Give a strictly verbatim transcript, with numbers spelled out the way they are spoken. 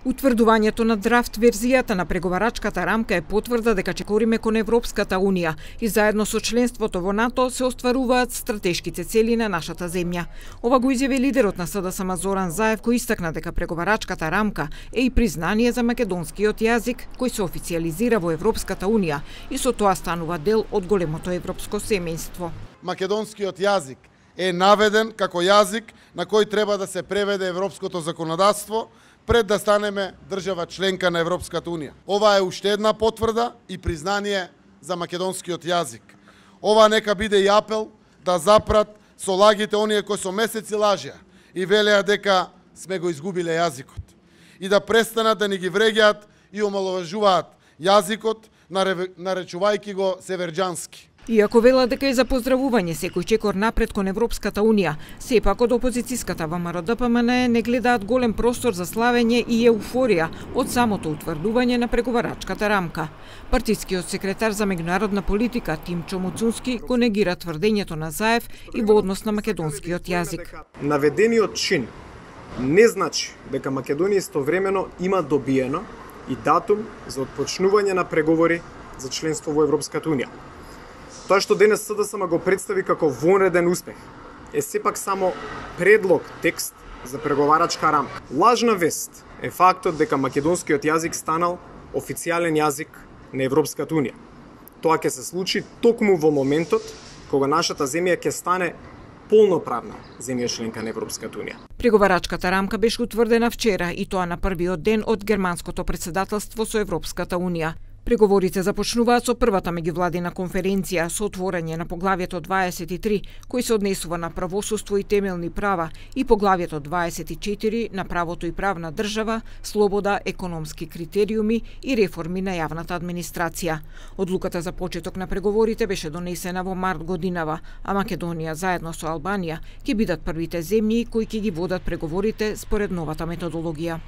Утврдувањето на драфт верзијата на преговарачката рамка е потврда дека чекориме кон Европската Унија и заедно со членството во НАТО се остваруваат стратешките цели на нашата земја. Ова го изјави лидерот на СДСМ Зоран Заев, кој истакна дека преговарачката рамка е и признание за македонскиот јазик кој се официјализира во Европската Унија и со тоа станува дел од големото европско семејство. Македонскиот јазик е наведен како јазик на кој треба да се преведе европското законодавство пред да станеме држава членка на Европската Унија. Ова е уште една потврда и признание за македонскиот јазик. Ова нека биде и апел да запрат со лагите оние кои со месеци лажеа и велеа дека сме го изгубиле јазикот. И да престанат да ни ги вреѓаат и омаловажуваат јазикот, наречувајќи го северџански. Иако велат дека е за поздравување секој чекор напред кон Европската Унија, сепак од опозицијската ВМРО-ДПМН не гледаат голем простор за славење и еуфорија од самото утврдување на преговарачката рамка. Партискиот секретар за меѓународна политика Тимчо Муцунски го негира тврдењето на Заев и во однос на македонскиот јазик. Наведениот чин не значи дека Македонија истовремено има добиено и датум за отпочнување на преговори за членство во Европската Унија. Тоа што денес СДСМ го представи како вонреден успех е сепак само предлог текст за преговарачка рамка. Лажна вест е фактот дека македонскиот јазик станал официјален јазик на Европската Унија. Тоа ќе се случи токму во моментот кога нашата земја ќе стане полноправна земја членка на Европската Унија. Преговарачката рамка беше утврдена вчера и тоа на првиот ден од германското претседателство со Европската Унија. Преговорите започнуваат со првата меѓувладина конференција со отворање на поглавјето дваесет и три, кој се однесува на правосудство и темелни права, и поглавјето дваесет и четири на правото и правна држава, слобода, економски критериуми и реформи на јавната администрација. Одлуката за почеток на преговорите беше донесена во март годинава, а Македонија заедно со Албанија ќе бидат првите земји кои ќе ги водат преговорите според новата методологија.